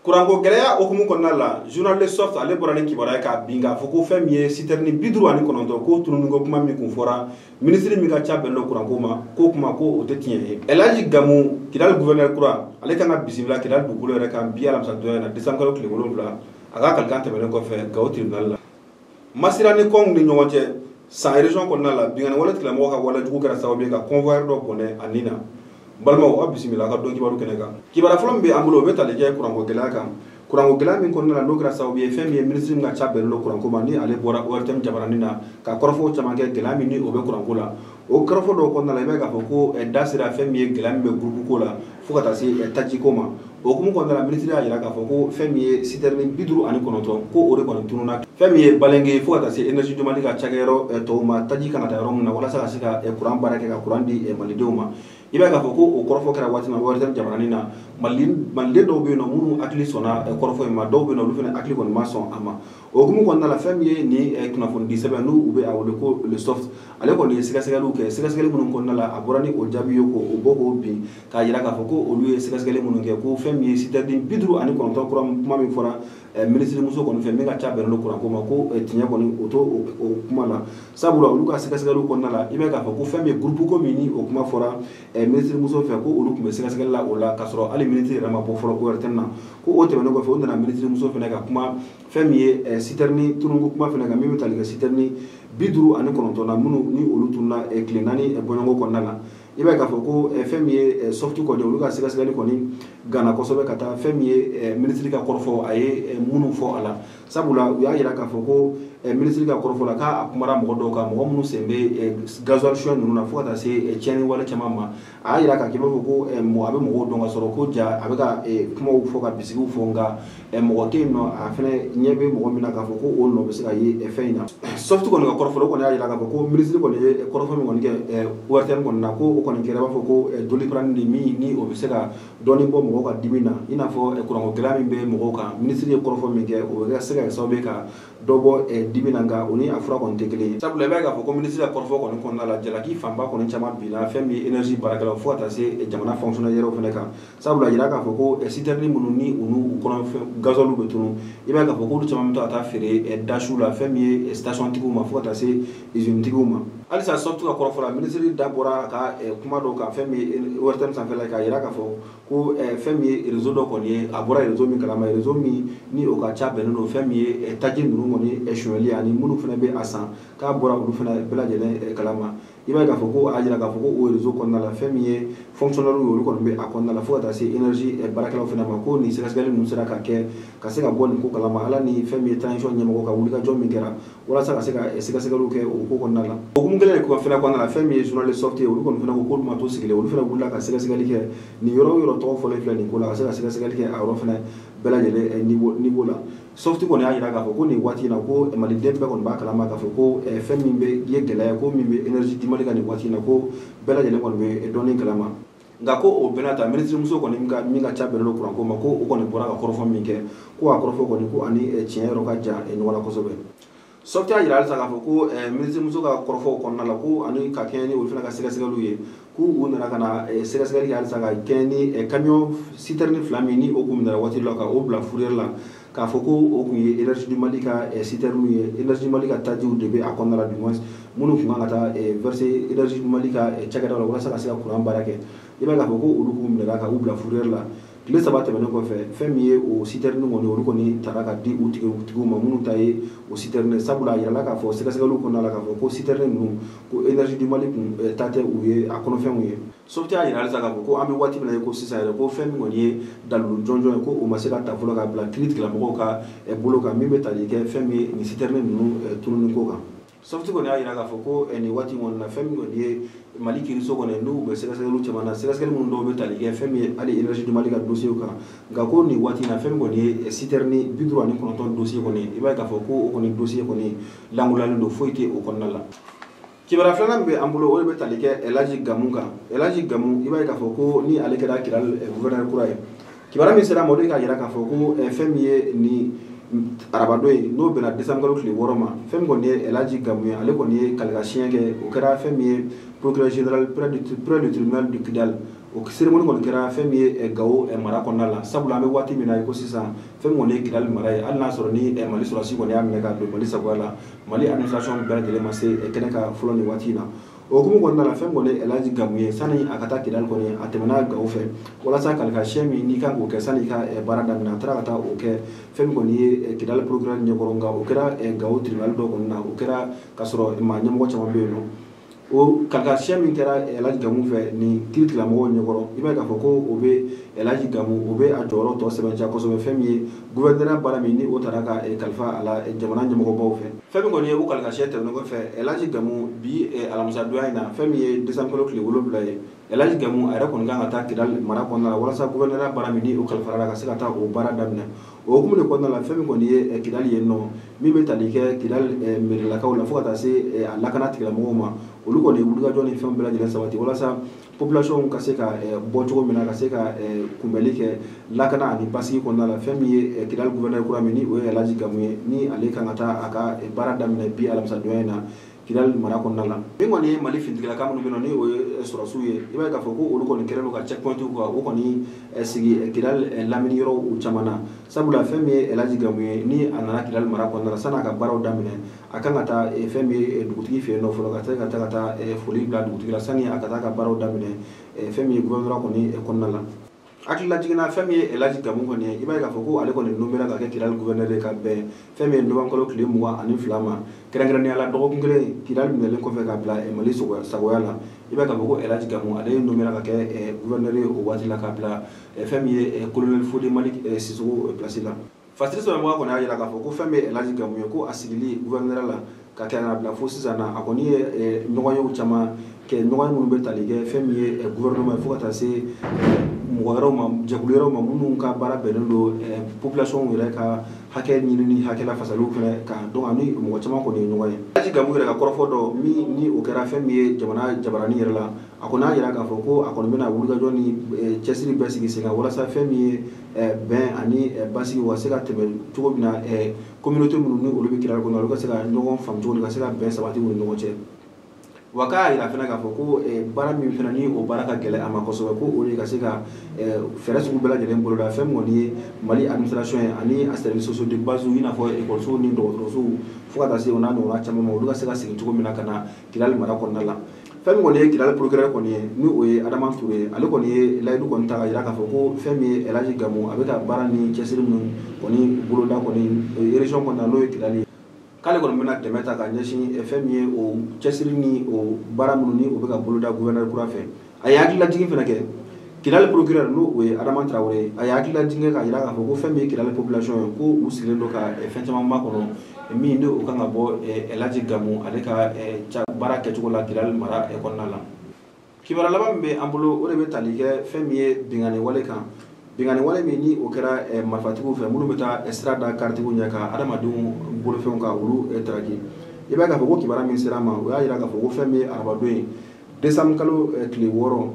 Kuranko gɛlɛya hukumu kɔnɔna la, journal Le Soft ale bɔra ni kibaruya k'a bin k'a fɔ ko fɛn min ye citerne 59 ko tununiko kuma min kun fɔra minisiri min ka ca bɛn don kuranko ma, k'o kuma ko o tɛ tiɲɛ ye. Elhaji Gamou, Kidali gouverneur kura, ale kan ka bisimila Kidali dugukolo yɛrɛ kan bi alamisa donya na, décembre kalo tile 7, a ka kalikan tɛmɛnen kɔfɛ Gawo tribunal la. Masira ni Kɔngu ni ɲɔgɔn cɛ San région kɔnɔna la, binkanni wale tigilamɔgɔw ka wale jugu kɛra sababu ye ka convoyeur dɔ bɔnɛ a nin na. Balimaw, aw bisimila a ka don kibaru kɛnɛ kan. Kibaruya fɔlɔ min bɛ an bolo, o bɛ tali kɛ kuranko gɛlɛya kan. Kuranko gɛlɛya min kɔnɔna la, n'o kɛra sababu ye fɛn min ye minisiri min ka ca bɛnnen don kuranko ma, ni ale bɔra ORTM jabaranin na ka kɔrɔfɔw caman kɛ gɛlɛya min ni o bɛ kuranko la. O kɔrɔfɔ dɔw kɔnɔna la, i b'a ye k'a fɔ ko da sera fɛn min ye gɛlɛya min bɛ groupe ko la fo ka taa se taji ko ma. O hukumu kɔnɔna la, minisiri y'a jira k'a fɔ ko fɛn min ye citerne 59, ko o de kɔni tununna fɛn min ye Balengue fo ka taa se Énergie du Mali ka cakɛyɔrɔ tɔw ma, taji kan ka taa yɔrɔ min na walasa ka se ka kuran baara kɛ ka kuran di malidenw ma. I b'a ye k'a fɔ ko o kɔrɔfɔ kɛra waati min na ORTM jabaranin na, maliden dɔw bɛ yen nɔ minnu hakili sɔnna kɔrɔfɔ in ma, dɔw bɛ yen nɔ olu fana hakili kɔni ma sɔn a ma. O hukumu kɔnɔna la, fɛn min ye nin kunnafonidi sɛbɛn n'u u bɛ a wele ko Le Soft, ale kɔni ye sɛgɛsɛgɛliw kɛ. Sɛgɛsɛgɛli minnu kɔnɔna la, a bɔra ni o jaabi ye k'o bɔ k'o bin k'a jira k'a fɔ ko olu ye sɛgɛsɛgɛli minnu kɛ, ko fɛn min ye citerne 59 kura kuma min fɔra minisiri muso kɔni fɛ min ka ca bɛnnen don kuranko ma, ko tiɲɛ kɔni o t'o o kuma la. Sabula olu ka sɛgɛsɛgɛliw kɔnɔna la, i b'a ye k'a fɔ ko fɛn min ye groupe ko min ni o kuma fɔra minisiri muso fɛ, ko olu tun bɛ sɛgɛsɛgɛli la o la k'a sɔrɔ hali minisiri yɛrɛ ma bɔ fɔlɔ ORTM na. Ko o tɛmɛnen kɔfɛ, o nana minisiri muso fana ka kuma fɛn min ye citerne tununko kuma fana kan, min bɛ tali kɛ citerne 59 na minnu ni olu tununna tile 4 bɔɲɔgɔnko kɔnɔna la. I b'a ye k'a fɔ ko fɛn min ye Soft kɔni, olu ka sɛgɛsɛgɛli kɔni ganna kosɛbɛ ka taa fɛn min ye minisiri ka kɔrɔfɔ a ye minnu fɔ a la. Sabula u y'a jira k'a fɔ ko minisiri ka kɔrɔfɔ la, k'a kumara mɔgɔ dɔw kan, mɔgɔ minnu sen bɛ gasoil suɲɛ ninnu na fo ka taa se tiɲɛni wale caman ma. A y'a jira k'a k'i b'a fɔ ko a bɛ mɔgɔw dɔn ka sɔrɔ ko ja a bɛ ka kumaw fɔ ka bisigiw fɔ, nka mɔgɔ tɛ yen nɔ a fana ɲɛ bɛ mɔgɔ min na k'a fɔ ko o nɔ bɛ se ka ye fɛn in na. Soft kɔni ka kɔrɔfɔ o kɔni y'a jira k'a fɔ ko minisiri kɔni ye kɔrɔfɔ min kɔni kɛ ORTM kɔni na, ko o kɔni kɛra i b'a fɔ ko Doliprane de min ni o bɛ se ka dɔɔnin bɔ mɔgɔw ka dimi na, i n'a fɔ kuranko gɛlɛya min bɛ mɔgɔw kan. Minisiri ye kɔrɔfɔ min kɛ, o bɛ se ka kɛ sababu ye ka dɔ bɔ dimi na, nka o ni a fura kɔni tɛ kelen ye. Sabula i b'a ye k'a fɔ ko minisiri ka kɔrɔfɔ kɔni kɔnɔna la, jalaki fanba kɔni caman binna fɛn min ye énergie baarakɛlaw fo ka taa se jamana fonctionnaire yɛrɛw fana kan. Sabula yira k'a fɔ ko citerne minnu ni u n'u kɔnɔ fɛn gasoil bɛ tunu, i b'a ye k'a fɔ k'olu caman bɛ to ka taa feere dasiw la fɛn min ye station tigiw ma fo ka taa se usine tigiw ma. Halisa Soft ka kɔrɔfɔ la, minisiri da bɔra a ka kuma dɔw kan fɛn min ye ORTM sanfɛla k'a jira k'a fɔ ko fɛn min ye réseau dɔ kɔni ye, a bɔra réseau min kalama, réseau min ni o ka ca bɛnnen don fɛn min ye taji ninnu kɔni sonyɛli ani minnu fana bɛ a san, k'a bɔra olu fana bɛɛ lajɛlen kalama. I b'a ye k'a fɔ ko a jira k'a fɔ ko o réseau kɔnɔna la, fɛn min ye fonctionnaire ye olu kɔni bɛ a kɔnɔna la fo ka taa se énergie baarakɛlaw fana ma, ko nin sɛgɛsɛgɛli ninnu sera ka kɛ ka se ka bɔ nin ko kalama, ala ni fɛn min ye transition ɲɛmɔgɔ ka wulikajɔ min kɛra walasa ka se ka sɛgɛsɛgɛliw kɛ o ko kɔnɔna la. O hukumu kelen de fana kɔnɔna la, fɛn min ye journal Le Soft ye, olu kɔni fana ko k'olu ma to sigilen, olu fana wulila ka sɛgɛsɛgɛli kɛ nin yɔrɔ o yɔrɔ tɔgɔ fɔlen filɛ nin ko la, ka se ka sɛgɛsɛgɛli kɛ a yɔrɔ fana bɛɛ lajɛlen niveau la. Soft kɔni y'a jira k'a fɔ ko nin waati in na, ko maliden bɛɛ kɔni b'a kalama k'a fɔ ko fɛn min bɛ ye gɛlɛya ko min bɛ énergie du Mali kan nin waati in na, ko bɛɛ lajɛlen kɔni bɛ dɔɔnin kalama. Nka ko o bɛɛ n'a ta, minisiri muso kɔni min ka ca bɛnnen don kuranko ma, ko o kɔni bɔra ka kɔrɔfɔ min kɛ, ko a kɔrɔfɔ kɔni ko ani tiɲɛ yɔrɔ ka jan ɲɔgɔn na kosɛbɛ. Soft y'a jira halisa k'a fɔ ko minisiri muso ka kɔrɔfɔw kɔnɔna la, ko ani ka kɛɲɛ ni olu fana ka sɛgɛsɛgɛliw ye, k'u u nana ka na sɛgɛsɛgɛli kɛ halisa ka kɛɲɛ ni camion citerne 2 min ni o kun minɛra waati dɔ la ka o bila fourrière la, k'a fɔ ko o kun ye Énergie du Mali ka citerne ye, Énergie du Mali ka tajiw de bɛ a kɔnɔna la, du moins minnu kun kan ka taa verser Énergie du Mali ka cakɛdaw la walasa ka se ka kuran baara kɛ. I b'a ye k'a fɔ ko olu kun minɛra ka u bila fourrière la. Tile 3 tɛmɛnen kɔfɛ, fɛn min ye o citerne kɔni, olu kɔni taara ka di u tigiw ma minnu ta ye o citerne. Sabula a yirala k'a fɔ sɛgɛsɛgɛliw kɔnɔna la k'a fɔ ko citerne ninnu ko Énergie du Mali kun ta tɛ u ye, a kɔnɔfɛnw ye. Soft y'a jira halisa k'a fɔ ko an bɛ waati min na i ko sisan yɛrɛ, ko fɛn min kɔni ye dalilu jɔnjɔn ye, ko o ma se ka ta fɔlɔ ka bila kiiri tigilamɔgɔw ka bolo kan min bɛ tali kɛ fɛn min ye nin citerne ninnu tununi ko kan. Soft kɔni y'a jira k'a fɔ ko nin waati kɔni na, fɛn min kɔni ye Mali kiiriso kɔni n'u bɛ sɛgɛsɛgɛliw caman na, sɛgɛsɛgɛli minnu dɔw bɛ tali kɛ fɛn min ye hali Énergie du Mali ka dossier kan. Nka ko nin waati in na, fɛn min kɔni ye citerne 59 dossier kɔni, i b'a ye k'a fɔ ko o kɔni dossier kɔni lankolonyalen don, foyi tɛ o kɔnɔna la. Kibaruya filanan min bɛ an bolo, o de bɛ tali kɛ Elhaji Gamou kan. Elhaji Gamou, i b'a ye k'a fɔ ko ni ale kɛra Kidali gouverneur kura ye, kibaruya min sera a ma, o de k'a jira k'a fɔ ko fɛn min ye nin arabadon ye, n'o bɛnna décembre kalo tile 6 ma, fɛn min kɔni ye Elhaji Gamou ye, ale kɔni ye kalikan siɲɛ kɛ, o kɛra fɛn min ye procureur général près du tribunal de Kidal. O cérémonie kɔni kɛra fɛn min ye Gawo mara kɔnɔna la, sabula an bɛ waati min na i ko sisan fɛn min kɔni ye Kidali mara ye, hali n'a sɔrɔ ni Mali sɔrɔdasi kɔni y'a minɛ ka don Mali sagoya la, Mali administration bɛɛ lajɛlen ma se kɛnɛ kan fɔlɔ nin waati in na. O hukumu kɔnɔna la, fɛn kɔni Elhaji Gamu ye, sani a ka taa Kidali kɔni, a tɛmɛna Gawo fɛ walasa kalifa min n'i kan k'o kɛ sani i ka baara daminɛ, a taara ka taa o kɛ fɛn min kɔni ye Kidali procureur ɲɛkɔrɔ. Nka o kɛra Gawo tribunal dɔ kɔni na, o kɛra k'a sɔrɔ maa ɲɛmɔgɔ caman bɛ yen nɔ. O kalifa min kɛra Elhaji Gamu fɛ nin kiiritigɛlamɔgɔw ɲɛkɔrɔ, i b'a ye k'a fɔ ko o bɛ Elhaji Gamu, o bɛ a jɔyɔrɔ tɔ sɛbɛntiya kosɛbɛ fɛn min ye gouverneur baara min ni o taara ka kalifa a la jamana ɲɛmɔgɔbaw fɛ. Fɛn min kɔni ye o kalifa tɛmɛnen kɔfɛ, Elhaji Gamu bi alamisadonya in na, fɛn min ye décembre kalo tile 7 ye, Elhaji Gamu a yɛrɛ kɔni kan ka taa Kidali mara kɔnɔna la walasa gouverneur baara min ni o kalifara la ka se ka taa o baara daminɛ. O hukumu de kɔnɔna la, fɛn min kɔni ye Kidali yen nɔ, min bɛ tali kɛ Kidali mairilakaw la fo ka taa se a lakana tigilamɔgɔw ma, olu kɔni ye wulikajɔ ni fɛn bɛɛ lajɛlen sabati walasa population ka se ka bɔ cogo min na, ka se ka kunbɛli kɛ lakana ani basigi kɔnɔna la. Fɛn min ye Kidali gouverneur kura min ni o ye Elhaji Gamu ye, ni ale kan ka taa a ka baara daminɛ bi alamisadonya in na Kidali mara kɔnɔna la. Min kɔni ye Mali finitigilaka minnu bɛ yen nɔ, ni o ye sɔrɔdasiw ye, i b'a ye k'a fɔ ko olu kɔni kɛlen don ka checkpoint kan, o kɔni sigi Kidali lamini yɔrɔw caman na, sabula fɛn min ye Elhaji Gamu ye, ni a nana Kidali mara kɔnɔna la, san'a ka baaraw daminɛ, a kan ka taa fɛn min ye dugutigi fɛ yen nɔ fɔlɔ, ka se ka taa foli bila dugutigi la sani a ka taa ka baaraw daminɛ fɛn min ye gouvernorat kɔni kɔnɔna la. Hakilila jiginna fɛn min ye Elhaji Gamu kɔni ye, i b'a ye k'a fɔ ko ale kɔni nommé ka kɛ Kidali gouverneur ye ka bɛn fɛn min ye novembre kalo tile 22 ma, kɛrɛnkɛrɛnnenya la dɔgɔkun kelen Kidali minɛlen kɔfɛ ka bila Mali sagoya la. I b'a ye k'a fɔ ko Elhaji Gamu ale nommé ka kɛ gouverneur ye o waati la ka bila fɛn min ye colonel Fode Malick Sissoko place la. Fasiri sɛbɛnbaga kɔni y'a jira k'a fɔ ko fɛn min ye Elhaji Gamu ye, ko a sigili gouverneur la ka kɛ ka bila fo sisan na, a kɔni ye ɲɔgɔnyew caman kɛ, ɲɔgɔnye minnu bɛ tali kɛ fɛn min ye gouvernement ye fo ka taa se mɔgɔ wɛrɛw ma, jɛkulu wɛrɛw ma minnu ka baara bɛnnen don population yɛrɛ ka hakɛ ɲinini, hakɛ lafasaliw fɛnɛ kan. Donc ani mɔgɔ caman kɔni ye ɲɔgɔn ye. Elhaji Gamu yɛrɛ ka kɔrɔfɔ dɔ min ni o kɛra fɛn min ye jamana jabaranin yɛrɛ la, a kɔni y'a jira k'a fɔ ko a kɔni bɛna wulikajɔ ni cɛsiri bɛɛ sigi sen kan walasa fɛn min ye bɛn ani basigi u ka se ka tɛmɛ cogo min na, communauté minnu ni olu bɛ Kidali kɔnɔ, olu ka se ka ɲɔgɔn faamu cogo min, ka se ka bɛn sabati u ni ɲɔgɔn cɛ. Wa k'a yira fana k'a fɔ ko baara min fana ni o baara ka gɛlɛn a ma kosɛbɛ, ko o de ka se ka fɛɛrɛ sugu bɛɛ lajɛlen boloda fɛn min kɔni ye Mali administration ye ani a services sociaux de base, i n'a fɔ ekɔlisow ni dɔgɔtɔrɔsow fo ka taa se o n'a ɲɔgɔnna caman ma, olu ka se ka segin cogo min na ka na Kidali mara kɔnɔna la. Fɛn min kɔni ye Kidali procureur kɔni ye, ni o ye Adama Toure ye, ale kɔni ye layidu kɔni ta ka jira k'a fɔ ko fɛn min ye Elhaji Gamu, a bɛ ka baara ni cɛsiri minnu kɔni boloda kɔni région kɔnɔna na, n'o ye Kidali ye, k'ale kɔni bɛna dɛmɛ ta ka ɲɛsin fɛn min ye o cɛsiri ni o baara minnu ni o bɛ ka boloda gouverneur kura fɛ. A ye hakililajigin fana kɛ Kidali procureur, n'o o ye Adama Traoré ye, a ye hakililajigin kɛ k'a jira k'a fɔ ko fɛn min ye Kidali population ye, ko u sigilen don ka fɛn caman makɔnɔ min ni o kan ka bɔ Elhaji Gamu ale ka baara kɛcogo la Kidali mara kɔnɔna la. Kibaruya laban min bɛ an bolo, o de bɛ tali kɛ fɛn min ye binkanni wale kan, binkanni wale min ni o kɛra marifatigiw fɛ minnu bɛ taa sira da karitigiw ɲɛ ka adamadenw bolofɛnw ka olu taraki. I b'a ye k'a fɔ ko kibaruya min sera ma, o y'a jira k'a fɔ ko fɛn min ye arabadon ye décembre kalo tile 6,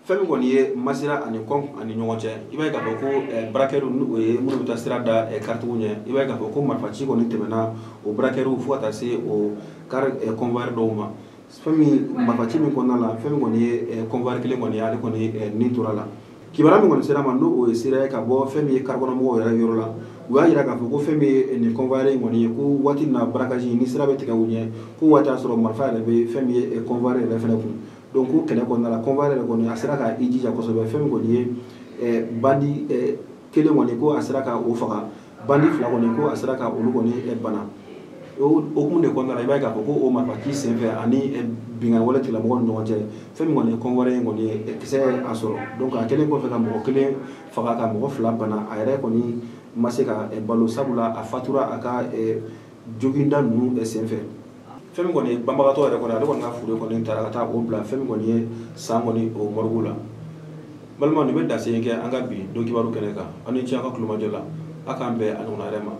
fɛn min kɔni ye Masira ani Kɔnk ani ɲɔgɔn cɛ, i b'a ye k'a fɔ ko braqueurs ni o ye minnu bɛ taa sira da karitigiw ɲɛ, i b'a ye k'a fɔ ko marifaci kɔni tɛmɛna o braqueurs fo ka taa se o car convoyeur dɔw ma. Fɛn min marifaci min kɔnɔna la, fɛn min kɔni ye convoyeur kelen kɔni ye, ale kɔni nin tora la. Kibaruya min kɔni sera ma, n'o o ye sira ye ka bɔ fɛn min ye karikɔnɔmɔgɔw yɛrɛ yɔrɔ la, u y'a jira k'a fɔ ko fɛn min ye nin convoyeur in kɔni ye, ko waati min na braquage ni sira bɛ tigɛ u ɲɛ, ko waati y'a sɔrɔ marifa yɛrɛ bɛ fɛn min ye convoyeur yɛrɛ fɛnɛ kun. Donc ko kɛlɛ kɔnɔna la, convoyeur yɛrɛ kɔni a sera ka i jija kosɛbɛ, fɛn min kɔni ye bandi kelen kɔni ko a sera ka o faga, bandi fila kɔni ko a sera ka olu kɔni bana. O hukumu de kɔnɔna la, i b'a ye k'a fɔ ko o marifaci senfɛ ani binkanni wale tigilamɔgɔw ni ɲɔgɔn cɛ, fɛn min kɔni ye convoyeur in kɔni ye kisɛ a sɔrɔ. Donc a kɛlen kɔfɛ ka mɔgɔ kelen faga ka mɔgɔ fila bana, a yɛrɛ kɔni ma se ka balo, sabula a fatura a ka joginda ninnu senfɛ. Fɛn min kɔni ye banbagatɔ yɛrɛ kɔni, ale kɔni ka fure kɔni taara ka taa o bila fɛn min kɔni ye san kɔni o morgue la. Balimaw, nin bɛ dasen kɛ an ka bi don kibaru kɛnɛ kan. Aw ni ce aw ka kulomajɔ la, a k'an bɛn a ɲɔgɔnna wɛrɛ ma.